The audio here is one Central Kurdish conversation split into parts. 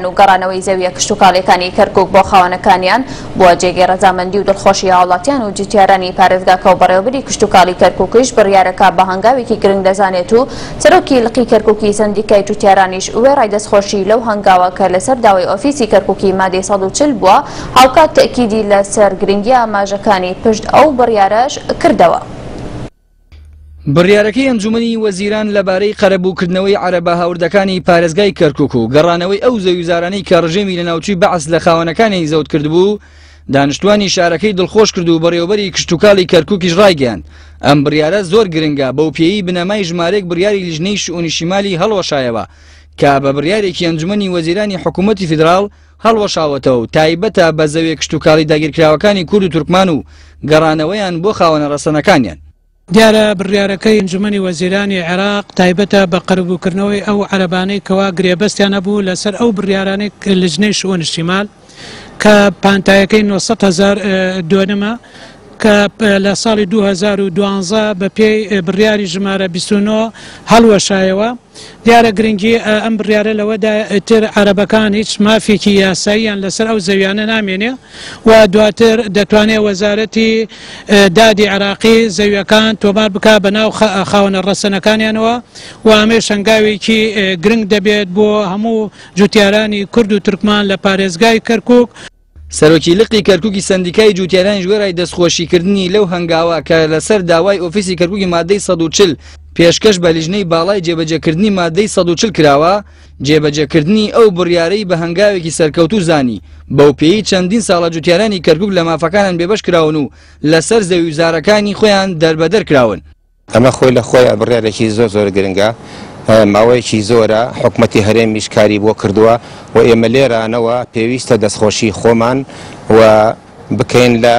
و گەڕانەوەی زەوییە کشتوکاڵییەکانی کەرکوک بۆ خاوەنەکانیان بووە جێگەی ڕەزامەندی و دڵخۆشی هاوڵاتیان و جوتیارانی پارێزگاکە و بەڕێوەبەری کشتوکاڵی کەرکوکیش بڕیارەکە بە هەنگاوێکی گرنگ دەزانێت و سەرۆکی لقی کەرکوکی سەندیکای جوتیارانیش وێڕای دەستخۆشی لەو هەنگاوە کە لەسەر داوای ئۆفیسی کەرکوکی مادەی 140 بووە هاوکات تەئکیدی لەسەر گرنگی ئاماژەکانی پشت ئەو بڕیارەش کردەوە. بڕیارەکەی ئەنجومەنی وەزیران لەبارەی قەرەبووکردنەوەی عەرەبە هاوردەکانی پارێزگای کەرکوک و گەڕانەوەی ئەو زەویوزارانەی کە ڕژێمی لەناوچووی بەعس لە خاوەنەکانی زەوت کردبوو، دانیشتوانی شارەکەی دڵخۆش کرد و بەڕێوەبەری کشتوکاڵی کەرکوکیش ڕایگەیاند، ئەم بڕیارە زۆر گرنگە بەوپێیەی بنەمای ژمارەیەک بڕیاری لیژنەی شئونی شیمالی هەڵوەشایەوە کە بە بڕیارێکی ئەنجومەنی وەزیرانی حکوومەتی فیدراڵ هەڵوەشاوەتەوە و تایبەتە بە زەویە کشتوکاڵی داگیرکراوەکانی کورد و تورکمان و گەڕانەوەیان بۆ خاوەنە ڕەسەنەکانیان. دیارە بڕیارەکەی ئەنجومەنی وەزیرانی عێراق تایبەتە بە قەرەبووکردنەوەی ئەو عەرەبانەی کەوا گرێبەستیان هەبوو لەسەر ئەو بڕیارانەی لجنەی شئون شیمال کە پانتایەکەی 900 هەزار دۆنمە کە لە ساڵی 2012 بە پێی بڕیاری ژمارە 29 هەڵوەشایەوە. دیارە گرنگی ئەم بڕیارە لەوەدایە ئیتر عەرەبەکان هیچ مافێکی یاساییان لەسەر ئەو زەویانە نامێنێ و دواتر دەتوانێ وەزارەتی دادی عێراقی زەویەکان تۆمار بکا بە ناو خاوەنە ڕەسەنەکانیانەوە و ئەمەیش هەنگاوێکی گرنگ دەبێت بۆ هەموو جوتیارانی کورد و تورکمان لە پارێزگای کەرکوک. سەرۆکی لقی کەرکوکی سەندیکای جوتیارانیش وێڕای دەستخۆشیکردنی لەو هەنگاوە کە لەسەر داوای ئۆفیسی کەرکوکی مادەی 140 پێشکەش بە لیژنەی باڵای جێبەجێکردنی مادەی 140 کراوە، جێبەجێکردنی ئەو بڕیارەی بە هەنگاوێکی سەرکەوتوو زانی، بەوپێیەی چەندین ساڵە جوتیارانی کەرکوک لە مافەکانیان بێبەش کراون و لەسەر زەویوزارەکانی خۆیان دەربەدەر کراون. ئەمە خۆی لە خۆیا بڕیارێکی زۆر زۆر گرنگە، ماوەیەکی زۆرە حکومەتی هەرێمیش کاری بۆ کردووە و ئێمە لێرانەوە پێویستە دەستخۆشی خۆمان و بکەین لە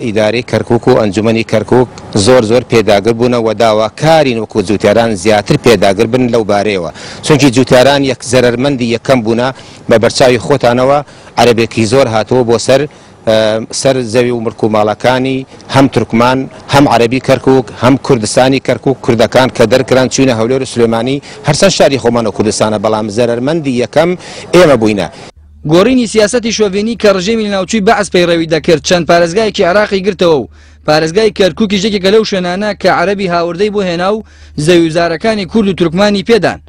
ئیدارەی کەرکوک و ئەنجومەنی کەرکوک زۆر زۆر پێداگر بوونە و داواکارین وەکو جوتیاران زیاتر پێداگر بن لەو بارەیەوە چونکی جوتیاران یەک زەرەرمەندی یەکەم بوونە بە بەرچاوی خۆتانەوە عەرەبێکی زۆر هاتووە بۆ سەر سەر زەوی و مڵک و ماڵەکانی هەم تورکمان هەم عەرەبی کەرکوک هەم کوردستانی کەرکوک کوردەکان کە دەرکران چوینە هەولێر و سلێمانی هەرچەند شاری خۆمان و کوردستانە بەڵام زەرەرمەندی یەکەم ئێمە بووینە. گۆڕینی سیاسەتی شۆڤێنی کە ڕژێمی لەناوچووی بەعس پەیڕەوی دەکرد چەند پارێزگایەکی عێراقی گرتەوە و پارێزگای کەرکوکیش یەکێکە لەو شوێنانە کە عەرەبی هاوردەی بۆ هێنا و زەویوزارەکانی کورد و تورکمانی پێدان.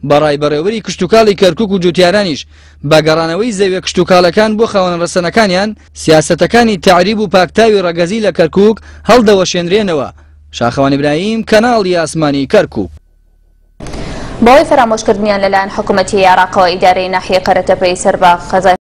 بەڕای بەڕێوەبەری کشتوکاڵی کەرکوک و جوتیارانیش بە گەڕانەوەی زەویە کشتوکاڵەکان بۆ خاوەنە ڕەسەنەکانیان، سیاسەتەکانی تەعریب و پاکتاوی ڕەگەزی لە کەرکوک هەڵدەوەشێنرێنەوە. شاخەوان ئیبراهیم، کەناڵی ئاسمانی کەرکوک. بەهۆی فەرامۆشکردنیان لەلایەن حکومەتی عێراقەوە ئیدارەی ناحیەی قەرەتەپەی سەر بە قەزای.